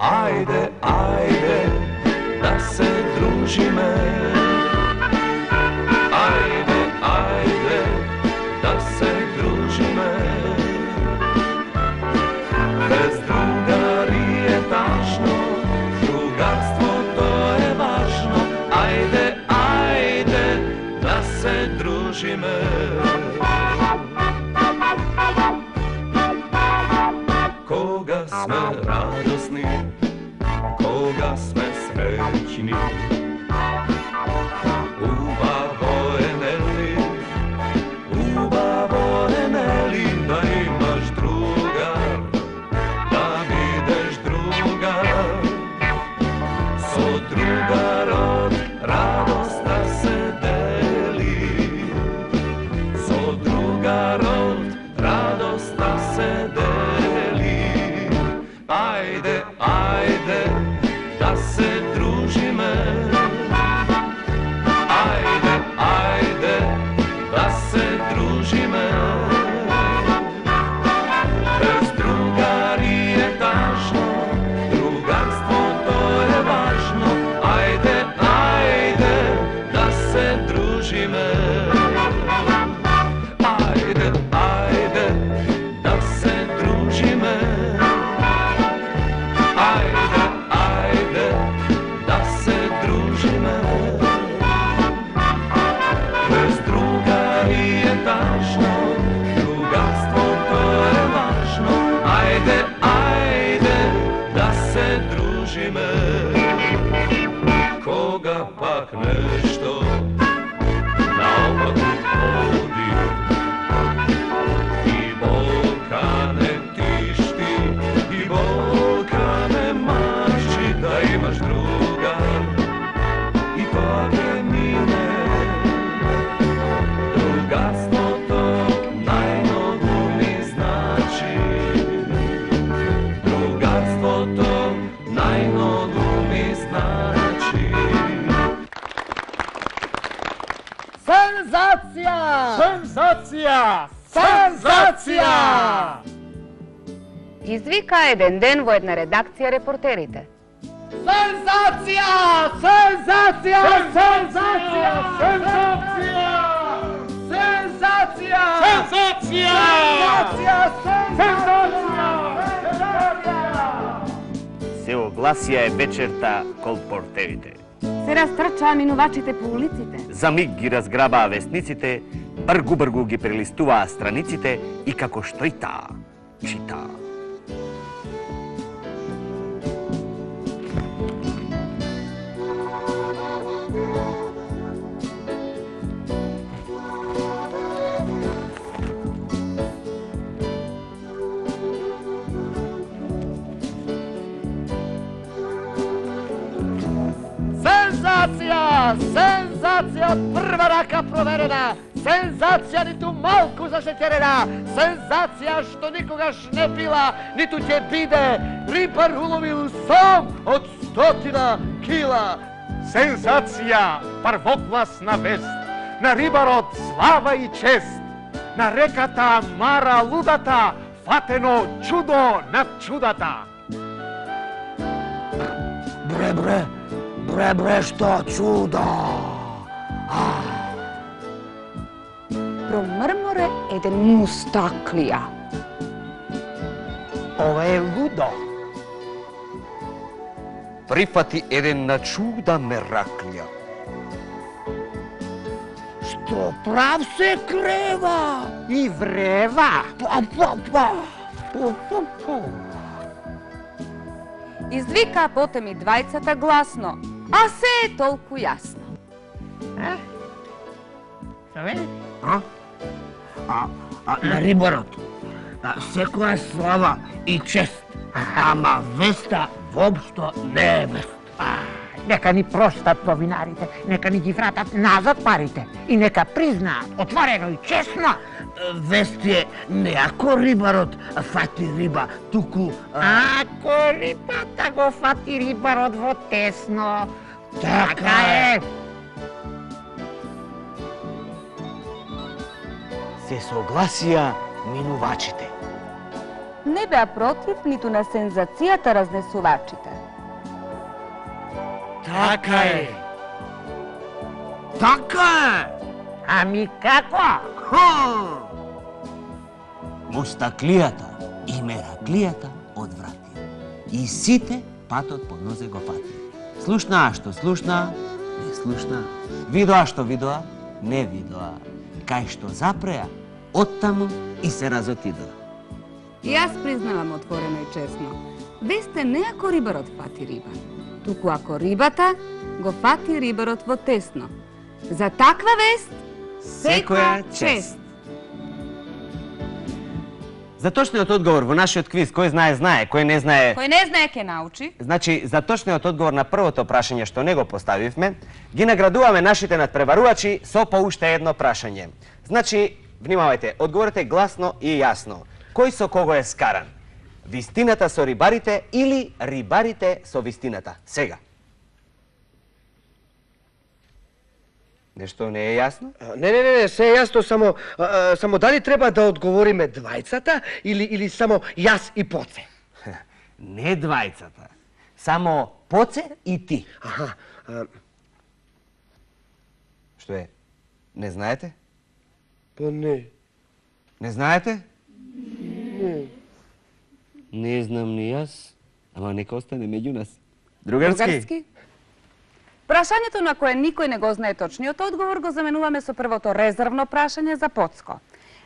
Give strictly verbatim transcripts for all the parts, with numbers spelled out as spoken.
Ајде, ајде, да се дружиме. Ајде, ајде, да се дружиме. Без другари е тажно, другарството е важно. Ајде, ајде, да се дружиме. Кога сме радосни, кога сме среќни, убаво е нели, убаво е нели да имаш другар, да видиш другар. Со другарот радоста се дели, со другарот радоста се дели. Ајде, ајде, да се дружиме. Ајде, ајде, да се дружиме. Без другари е тажно, другарството е важно. Ајде, ајде, да се дружиме. Ајде, ајде, да се дружиме. Ајде, ајде, да се дружиме. Без другари е тажно, другарството е важно. Ајде, ајде, да се дружиме. Кога пак нешто наопаку ходи и болка не тишти, и болка не мачи, да имаш другар и тоа ќе мине. Другарството најмногу ми значи. Другарството најмногу ми значи. Сензација! Сензација! Сензација! Извика еден ден во една редакција репортерите. Сензација! Сензација! Сензација! Сензација! Сензација! Сензација! Сензација! Се огласија е вечерта кол портерите. Се растрчаа минувачите по улиците. За миг ги разграбаа вестниците, бргу-бргу ги прелистуваа страниците и како што и таа, читаа. Сензација! Сензација од прва рака проверена! Сензација ниту малку зашеќерена! Сензација што никогаш не била, ниту ќе биде! Рибар уловил сом од стотина кила! Сензација! Првокласна вест! На рибарот слава и чест! На реката Мара Лудата фатено чудо над чудата! Бре, бре! Бре, бре, што чудо! Промрморе еден мустаклија. Ова е лудо! Прифати еден на чуда мераклија. Што прав се крева и врева! Па, па, па! Па, па, па! Извика потем и двајцата гласно, а се е толку јасно. Е? Што вели? А? А, а на рибарот секоја слава и чест, ама веста воопшто не е вест. Нека ни простат повинарите, нека ни ги вратат назад парите и нека признаат отворено и честно. Вест е не ако рибарот фати риба, туку... Ако рибата го фати рибарот во тесно. Така е! Се согласија минувачите. Не беа против ниту на сензацијата разнесувачите. Така е. Така е. Ами како? Мустаклијата и мераклијата одврати. И сите патот по нозе го фати. Слушнаа што слушнаа, не слушнаа. Видоа што видоа, не видоа. Кај што запреа, оттаму и се разотидоа. И јас признавам отворено и честно. Весте не ако рибарот фати риба, туку ако рибата го фати рибарот во тесно. За таква вест, секоја чест. За точниот одговор во нашиот квиз, кој знае, знае, кој не знае... Кој не знае ке научи. Значи, за точниот одговор на првото прашање што не го поставивме, ги наградуваме нашите надпреварувачи со по уште едно прашање. Значи, внимавајте, одговорете гласно и јасно. Кој со кого е скаран? Вистината со рибарите или рибарите со вистината? Сега. Нешто не е јасно? Не, не, не, не, се е јасно, само, а, само дали треба да одговориме двајцата или, или само јас и Поце? Не двајцата, само Поце и ти. Аха. А... Што е? Не знаете? Па не. Не знаете? Не. Не знам ни јас, ама нека остане меѓу нас. Другарски? Другарски? Прашањето на кое никој не го знае точниот одговор го заменуваме со првото резервно прашање за Поцко.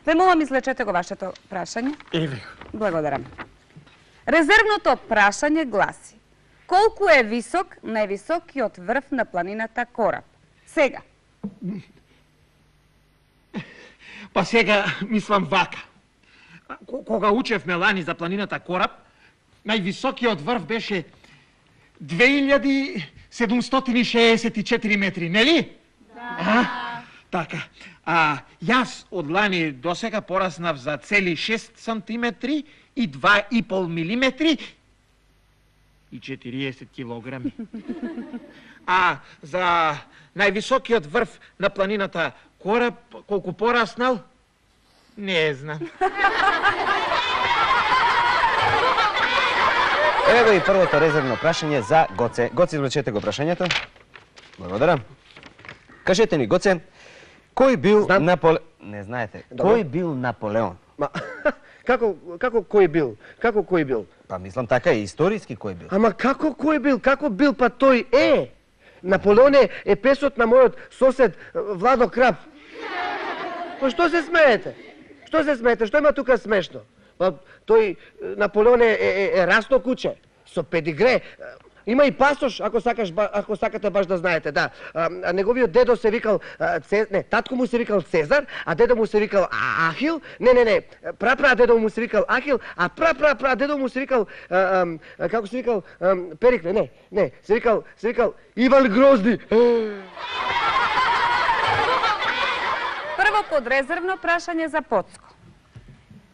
Ве молам, излечете го вашето прашање. Еве. Благодарам. Резервното прашање гласи: колку е висок највисокиот врв на планината Кораб? Сега. Па сега мислам вака. Кога учевме лани за планината Кораб, највисокиот врв беше две илјади седумстотини и шеесет и четири метри, нели? Да. А? Така. А јас од лани до сега пораснав за цели шест сантиметри и два и пол милиметри и четириесет килограми. А за највисокиот врв на планината Кораб, колку пораснал, не знам. Еве го и првото резервно прашање за Гоце. Гоце, извлечете го прашањето. Благодарам. Кажете ни, Гоце, кој бил Знам. Наполеон? Не знаете. Добро. Кој бил Наполеон? Ма, како, како кој бил? Како кој бил? Па мислам така и историски кој бил. Ама како кој бил? Како бил? Па тој е. Наполеон е, е песот на мојот сосед Владо Крап. Па што се смеете? Што се смеете? Што има тука смешно? Па тој Наполеон е, е, е расно куче со педигре. Има и пасош, ако сакаш ако сакате баш да знаете, да. А, неговиот дедо се викал Цез... не, татко му се викал Цезар, а дедо му се викал Ахил. Не, не, не. Прапра дедо му се викал Ахил, а прапра пра дедо му се викал а, а, како се викал а, Перикле, не, не, се викал се викал Иван Грозди. Прво подрезервно прашање за Поцко.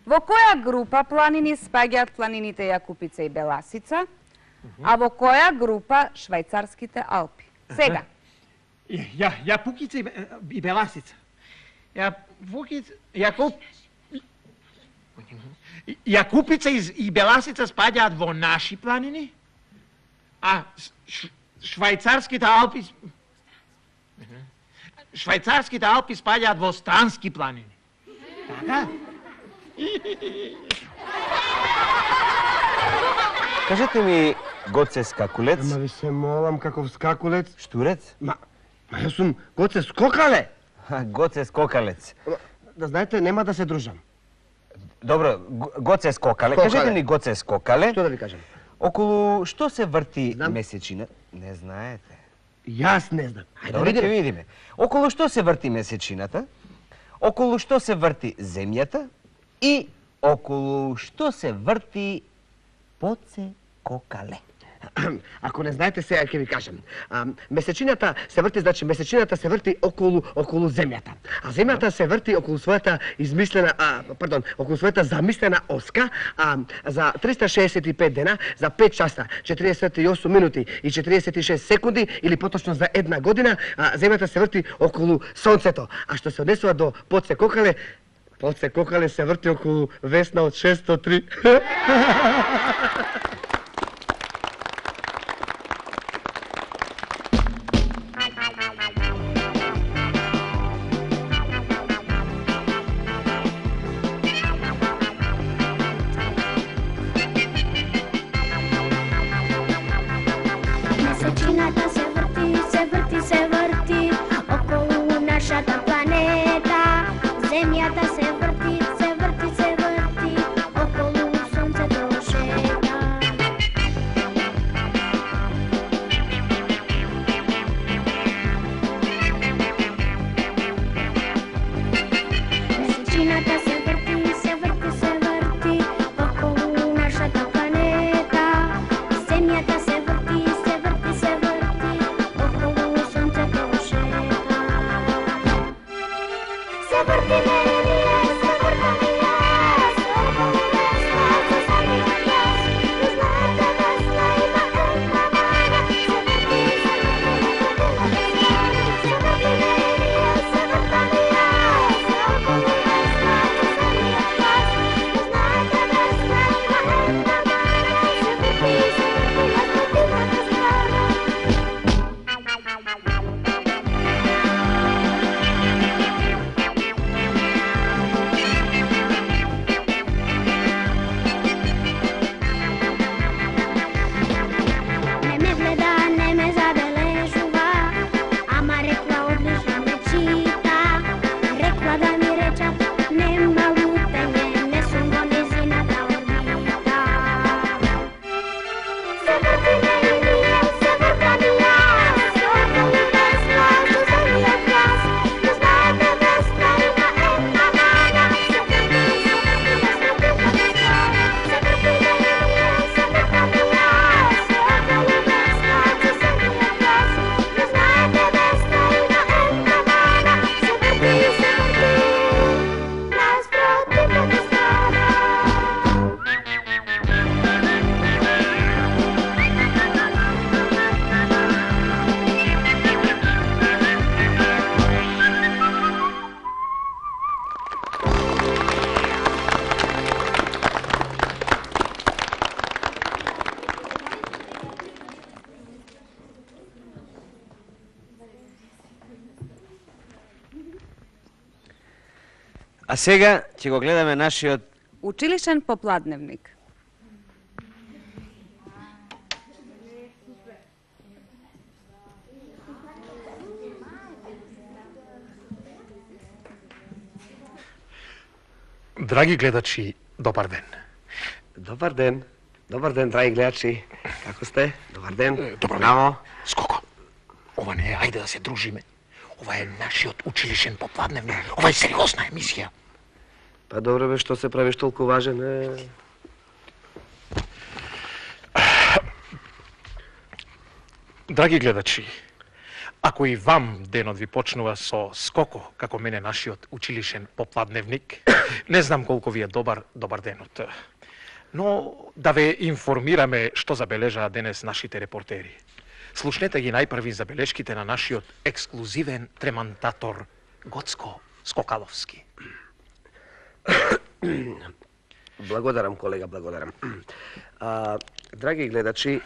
Во која група планини спаѓаат планините Јакупица и Беласица, а во која група Швајцарските Алпи? Сега. Ја, Јапукица и, и Беласица. Јапукица, Јакуп... Јакупица и, и Беласица спаѓаат во наши планини, а ш, Швајцарските Алпи... Швајцарските Алпи спаѓаат во странски планини. Така? Кажете ми, Гоце Скакулец, Ама ви се молам, каков скакулец. Штурец? Ма, ма јас сум Гоце Скокале. Ха, Гоце Скокалец. Ама, да знаете, нема да се дружам. Добро, Го- Гоце Скокале. Скокале. Кажете ми, Гоце Скокале, Што да ви кажам? околу што се врти Знам. месечина? Не знаете. Јас не знам. Хајде да Добро, ќе видиме. видиме. Околу што се врти месечината? Околу што се врти земјата? И околу што се врти Поце Кокале? Ако не знаете, сега ќе ви кажам. А, месечината се врти, значи месечината се врти околу околу земјата. А земјата се врти околу својата измислена, а, пардон, околу својата замислена оска, а, за триста шеесет и пет дена, за пет часа, четириесет и осум минути и четириесет и шест секунди, или поточно за една година, а, земјата се врти околу сонцето. А што се однесува до Поце Кокале, Под се кокале се врти околу Весна од шесто три. Месечината се врти, се врти, се врти околу нашата планета. Земјата се врти, се врти, се врти околу сонцето шета. Месечината се врти, се врти, се врти околу нашата планета. Земјата се врти, се врти, се врти околу сонцето шета. Се врти мене, се врти ми јас, околу Весна, се сами јас. Ви знаете, Весна има една мана, се врти, се врти, се врти мене, се врта ми јас, околу Весна, се сами јас. Ви знаете, Весна има една мана, се врти, се врти, јас вртимата страна. Не ме гледа, не ме забележува, ама рекла одлично ме чита. Рекла да ми речат, нема лутење, не сум во незината орбита. Се врти мене, се вртам и јас, околу Весна, се самиот јас. Ви знаете, Весна има една мана, се врти, се врти, јас вртимата страна. Се врти мене, се вртам и јас, околу Весна, се самиот јас. Ви знаете, Весна има една мана, се врти, се врти, јас вртимата страна. А сега ќе го гледаме нашиот Училишен попладневник. Драги гледачи, добар ден. Добар ден. Добар ден, драги гледачи. Како сте? Добар ден. Добро Браво. Скоко. Ова не е, ајде да се дружиме. Ова е нашиот училишен попладневник. Ова е сериозна емисија. Па добро бе, што се правиш толку важен? Е... Драги гледачи, ако и вам денот ви почнува со скоко, како мене нашиот училишен попладневник, не знам колку ви е добар, добар денот. Но да ве информираме што забележаа денес нашите репортери. Слушнете ги најпрви забелешките на нашиот ексклузивен тремантатор Гоцко Скокаловски. Благодарам, колега, благодарам. А, драги гледачи,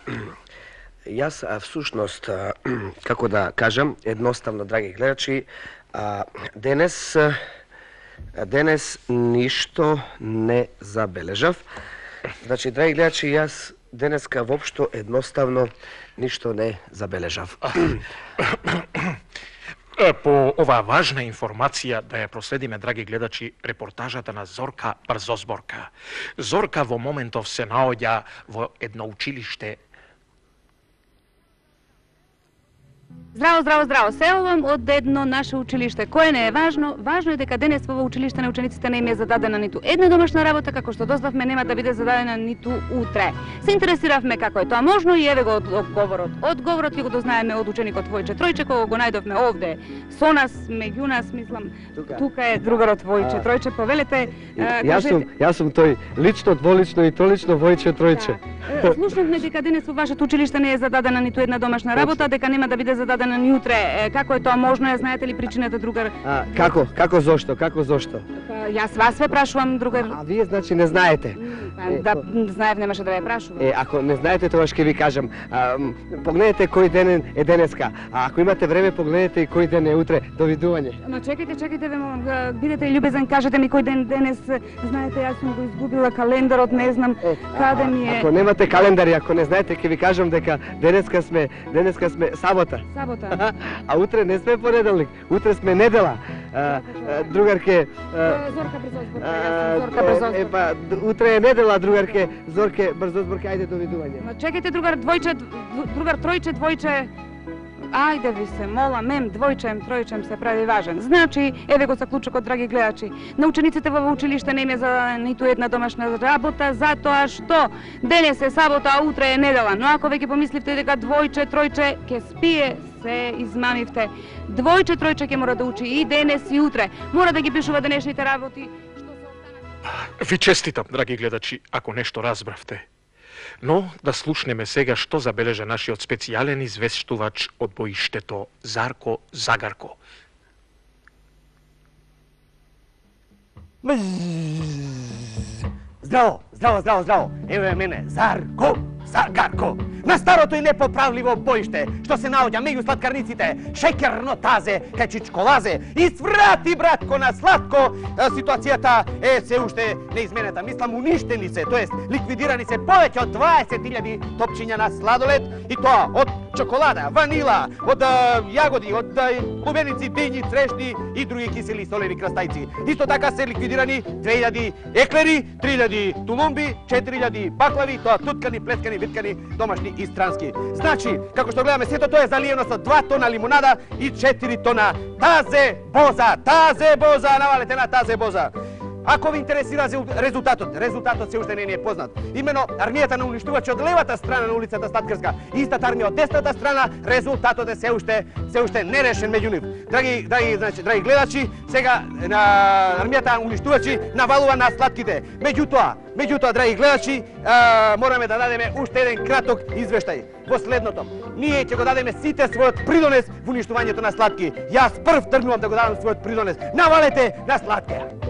јас а, всушност, а, како да кажам, едноставно, драги гледачи, а, денес, а, денес ништо не забележав. Значи, драги гледачи, јас денеска воопшто едноставно ништо не забележав. По оваа важна информација да ја проследиме, драги гледачи, репортажата на Зорка Брзозборка. Зорка во моментов се наоѓа во едно училиште. Здраво, здраво, здраво. Се овам од едно наше училиште. Кое не е важно? Важно е дека денес во училиште на учениците не им е зададена ниту една домашна работа, како што дознавме нема да биде зададена ниту утре. Се интересиравме како е тоа можно и еве го одговорот. Одговорот ќе го дознаеме од ученикот Војче Тројче, кога го најдовме овде со нас, меѓу нас, мислам. Тука, тука е другарот Војче Тројче. Повелете, Јас сум, јас сум тој лично, дволично и тролично Војче Тројче. Да. Слушнавме дека денес во вашето училиште не е зададена ниту една домашна работа, дека нема да биде зададена ни утре. Како е тоа можно? Ја знаете ли причината, другар? А, како? Како зошто? Како зошто? Па, Јас вас ве прашувам, другар. А вие значи не знаете. Да, знаев, немаше да ве прашувам. Е, ако не знаете, тогаш ќе ви кажам. А, м, погледнете кој ден е денеска. А ако имате време, погледнете и кој ден е утре. Довидување. Ама чекайте, чекайте, ве молам, га, бидете љубезен, кажете ми кој ден денес. Знаете, јас сум го изгубила календарот, не знам Е, каде а, ми е. Ако немате календари, ако не знаете, ќе ви кажам дека денеска сме денеска сме сабота. Сабота. А утре не сме понеделник, утре сме недела. А, а, другарке, а, Зорка брзо зборка, а, јас сум Зорка брзо е, зборка. па, д- утре е недела, другарке, Зорке, брзо зборка, ајде довидување. Ма чекайте, другар двојче, дв- другар тројче, двојче. Ајде ви се, мола, мем, двојчем, тројчем се прави важен. Значи, еве го заклучокот, драги гледачи. На учениците во училиште не им е за ниту една домашна работа, затоа што денес е сабота, а утре е недела. Но ако веќе помисливте дека двојче, тројче ќе спие, се измамивте. Двојче, тројче ќе мора да учи и денес и утре. Мора да ги пишува денешните работи. Што се останат... Ви честитам, драги гледачи, ако нешто разбравте. Но да слушнеме сега што забележа нашиот специјален извештувач од боиштето Зарко Загарко. Здраво, здраво, здраво, здраво. Еве мене, Зарко Загарко. На старото и непоправливо боиште, што се наоѓа меѓу сладкарниците, шеќерно тазе, кај чичколазе, и сврати, братко, на сладко, а, ситуацијата е се уште неизменета. Мислам, уништени се, тоест ликвидирани се повеќе од дваесет илјади топчиња на сладолед, и тоа од чоколада, ванила, од а, јагоди, од а, лубеници, дињи, црешни и други кисели солени крастајци. Исто така се ликвидирани две илјади еклери, три илјади тулумби, четири илјади баклави, тоа туткани, плеткани, виткани, домашни и странски. Значи, како што гледаме, сето тоа е заливено со два тона лимунада и четири тона тазе боза. Тазе боза, навалете на тазе боза. Ако ви интересира резултатот, резултатот се уште не ни е познат. Имено армијата на уништувачи од левата страна на улицата Сладкарска и истата армија од десната страна, резултатот е се уште се уште нерешен меѓу нив. Драги драги значи драги гледачи, сега на армијата на уништувачи навалува на сладките. Меѓутоа, меѓутоа драги гледачи, а, мораме да дадеме уште еден краток извештај. Во следното, ние ќе го дадеме сите својот придонес во уништувањето на сладки. Јас прв тргнувам да го дадам својот придонес. Навалете на сладкија.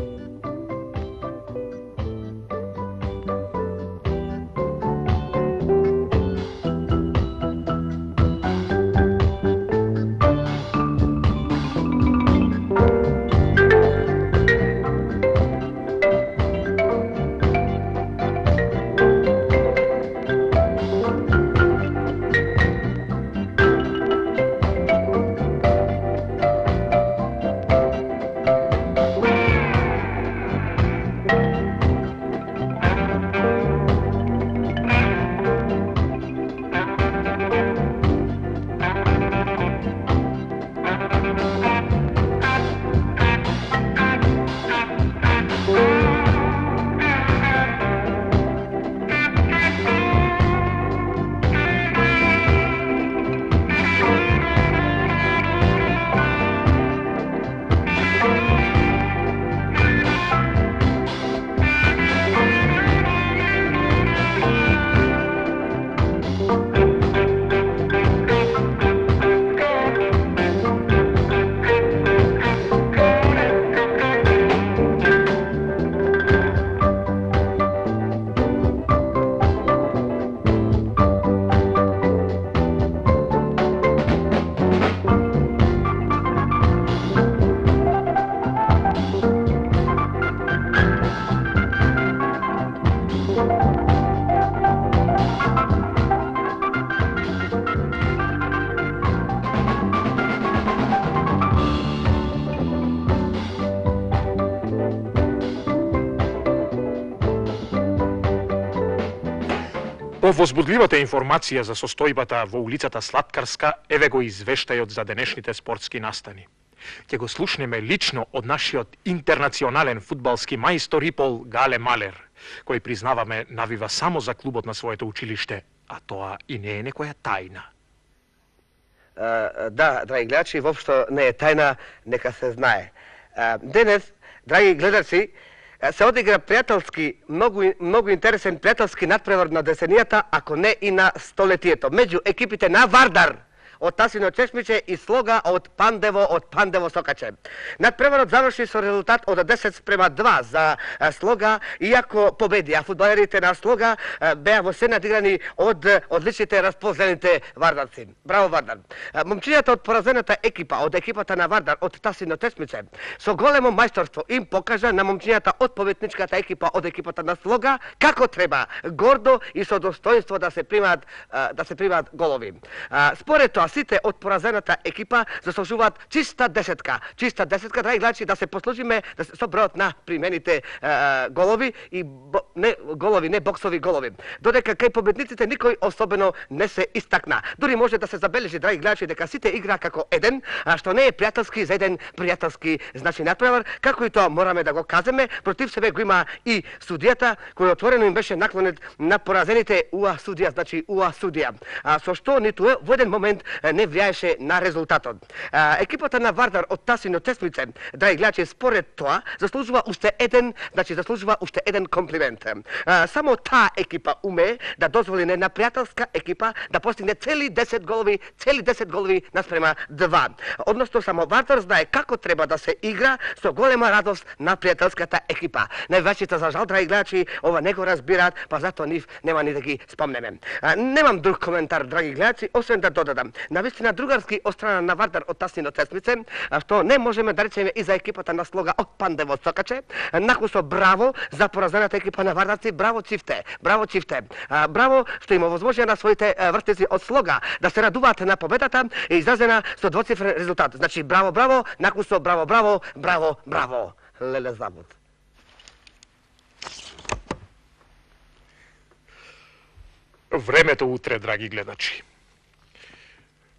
По возбудливата информација за состојбата во улицата Сладкарска, еве го извештајот за денешните спортски настани. Ќе го слушнеме лично од нашиот интернационален фудбалски мајстор Ипол Гале Малер, кој признаваме навива само за клубот на своето училиште, а тоа и не е некоја тајна. А, да, драги гледачи, воопшто не е тајна, нека се знае. А, денес, драги гледачи, се одигра пријателски, многу, многу интересен пријателски надпревар на десенијата, ако не и на столетието, меѓу екипите на Вардар од Тасино чешмиче и слога од Пандево од Пандево сокаче. Надпреварот заврши со резултат од десет спрема два за слога, иако победи, а фудбалерите на слога беа во се надиграни од одличните распознаните вардарци. Браво Вардар! Момчињата од поразената екипа, од екипата на Вардар од Тасино чешмиче, со големо мајсторство им покажа на момчињата од победничката екипа од екипата на слога како треба гордо и со достоинство да се примаат да се примаат голови. Според тоа сите од поразената екипа заслужуваат чиста десетка. Чиста десетка, драги гледачи, да се послужиме да се, со бројот на примените а, голови и бо, не голови, не боксови голови. Додека кај победниците никој особено не се истакна. Дури може да се забележи, драги гледачи, дека сите игра како еден, а што не е пријателски за еден пријателски значи надпревар, како и тоа мораме да го кажеме, против себе го има и судијата кој отворено им беше наклонет на поразените УА судија, значи УА судија, а, со што ниту во еден момент не влијаеше на резултатот. А, екипата на Вардар од Тасино чешмиче, драги гледачи, според тоа заслужува уште еден, значи заслужува уште еден комплимент. А, само таа екипа уме да дозволи на една пријателска екипа да постигне цели десет голови, цели десет голови наспрема два. Односно само Вардар знае како треба да се игра со голема радост на пријателската екипа. Највачите за жал, драги гледачи, ова не го разбираат, па затоа нив нема ни да ги спомнеме. А, немам друг коментар, драги гледачи, освен да додадам. Навистина другарски од страна на Вардар од Тасино чешмиче, што не можеме да речеме и за екипата на слога од Пандево сокаче. Накусо браво за поразената екипа на Вардарци, браво Чифте, браво Чифте. А, браво што им овозможија на своите вртници од слога да се радуваат на победата и изразена со двоцифрен резултат. Значи браво, браво, накусо браво, браво, браво, браво. Леле забуд. Времето утре, драги гледачи.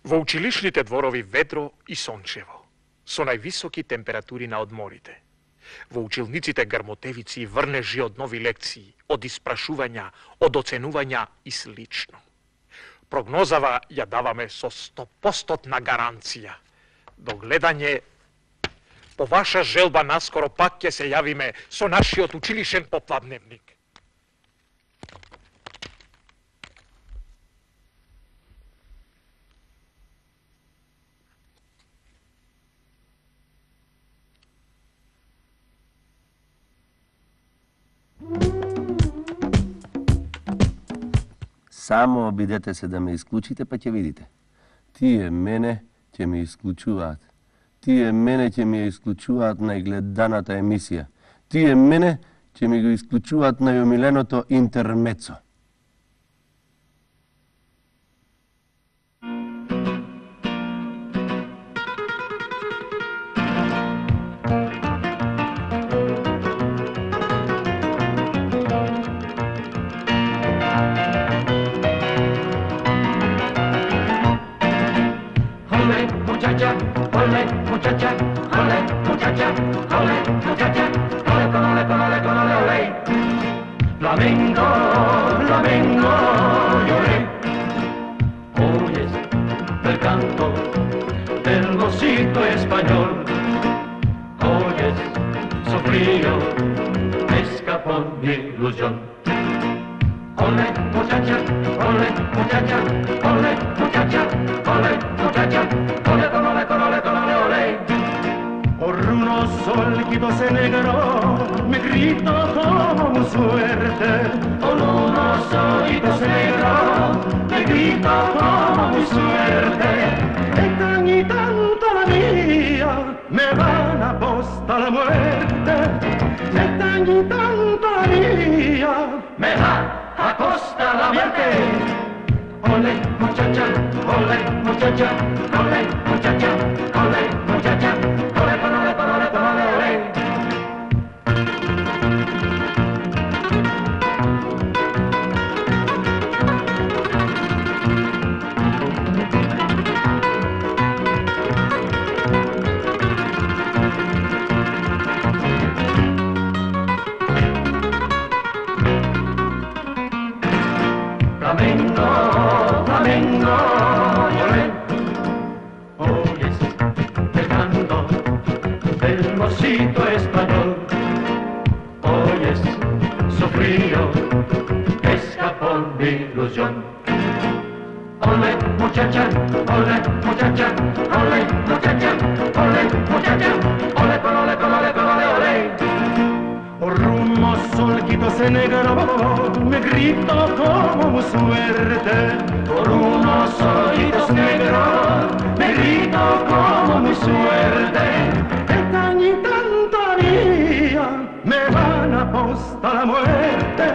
Во училишните дворови ветро и сончево, со највисоки температури на одморите. Во училниците грмотевици и врнежи од нови лекции, од испрашувања, од оценувања и слично. Прогнозава ја даваме со сто проценти гаранција. До гледање, по ваша желба наскоро пак ќе се јавиме со нашиот училишен попладневник. Само обидете се да ме исклучите, па ќе видите. Тие мене ќе ме исклучуваат. Тие мене ќе ми ја исклучуваат најгледаната емисија. Тие мене ќе ми го исклучуваат најомиленото интермецо. Muchacha, ole, muchacha, ole, muchacha, ole, muchacha, ole, con ole, con ole, con ole, ole. Flamengo, flamengo, lloré. Oyes el canto del mocito español. Oyes su frío, escapó mi ilusión. Ole, muchacha, ole, muchacha, ole, muchacha, ole, muchacha, ole, con ole, con ole, con ole, ole. Por unos solquitos en negro me grito con suerte. Por unos ojitos negros me grito como mi suerte. Es tan y tanto la mía, me van a apostar la muerte. Es tan y tanto la mía, Me va a costar la muerte. Ole, muchacha, ole, muchacha, ole, muchacha, ole, muchacha, ole, con ole, con ole, con ole, ole. Flamengo, flamengo, lloré. Oyes el canto del mocito español. Oyes su frío, escapó mi ilusión. ole muchacha, ole muchacha, ole muchacha, ole muchacha, ole ole ole ole ole. Por un solquito se negro me grito como suerte. Por unos ojitos negros me grito como mi suerte. Esta ni tanta mía me van a postar la muerte.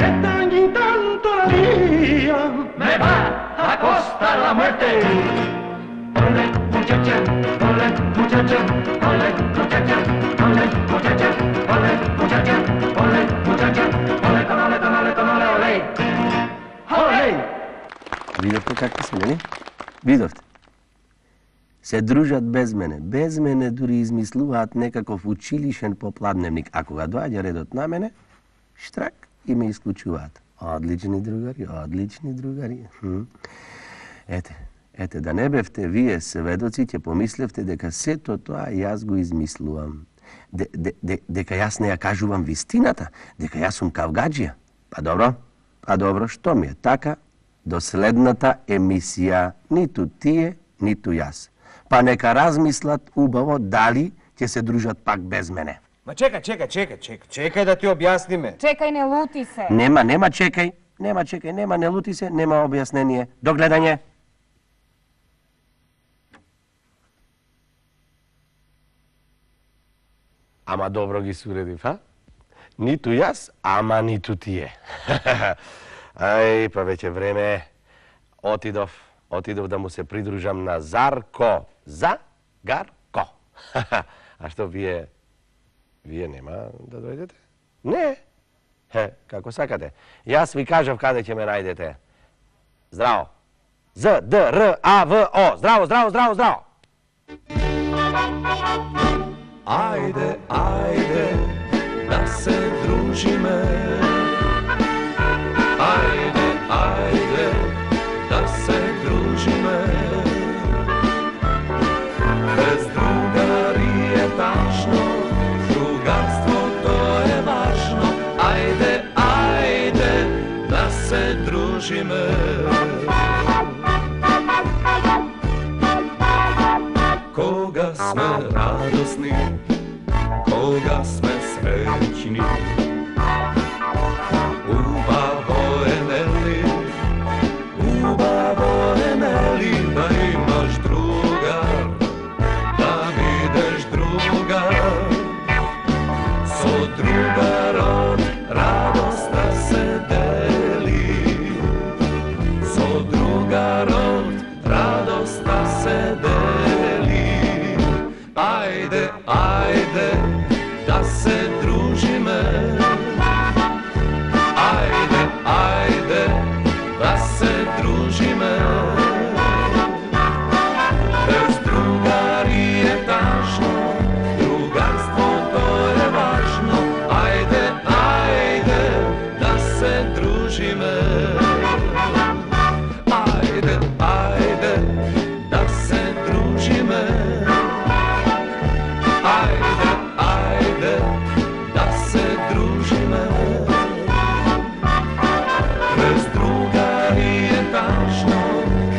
Esta ni tanto la mía me va a costar la muerte. Ole muchacha, ole muchacha, ole muchacha, ole muchacha, ole muchacha, ole muchacha, ole ole ole ole ole. Ole! Видовте какви сме, нели? Видовте. Се дружат без мене. Без мене дури измислуваат некаков училишен попладневник. А кога доаѓа редот на мене, штрак и ме исклучуваат. Одлични другари, одлични другари. Хм. Ете, ете, да не бевте вие сведоци, ќе помислевте дека сето тоа јас го измислувам. Де, де, де, дека јас не ја кажувам вистината, дека јас сум кавгаджија. Па добро, па добро, што ми е така? До следната емисија, ниту тие, ниту јас. Па нека размислат убаво дали ќе се дружат пак без мене. Ма чекај, чекај, чекај, чекај, чекај да ти објасниме. Чекај, не лути се. Нема, нема чекај, нема чекај, нема не лути се, нема објаснение. До гледање. Ама добро ги суредив, а? Ниту јас, ама ниту тие. Ај, па веќе време отидов, отидов да му се придружам на Зарко. За-гар-ко. А што вие, вие нема да дојдете? Не. Хе, како сакате. Јас ви кажав каде ќе ме најдете. Здраво. З, Д, Р, А, В, О. Здраво, здраво, здраво, здраво. Ајде, ајде, да се дружиме. Ајde, ајde, да се дружиме. Без другари е тажно, другарството е важно. Ајde, ајde, да се дружиме. Кога сме радосни, кога сме среќни, убаво е, нели, убаво е, нели, да имаш другар, да видиш другар. Со другарот радост да се дели, со другарот радост да се дели. Ајде, ајде, да се дружиме. Ајde, ајde, да се дружиме. Без другари е тажно, другарството е важно. Ајde, ајде, да се дружиме. Ајde, ајде, да се дружиме. Ајde, ајде, да се дружиме. Без другари е тажно,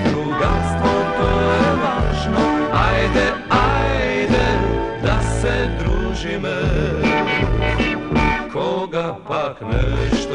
другарството е важно. Ајде, ајде, да се дружиме. Кога пак нешто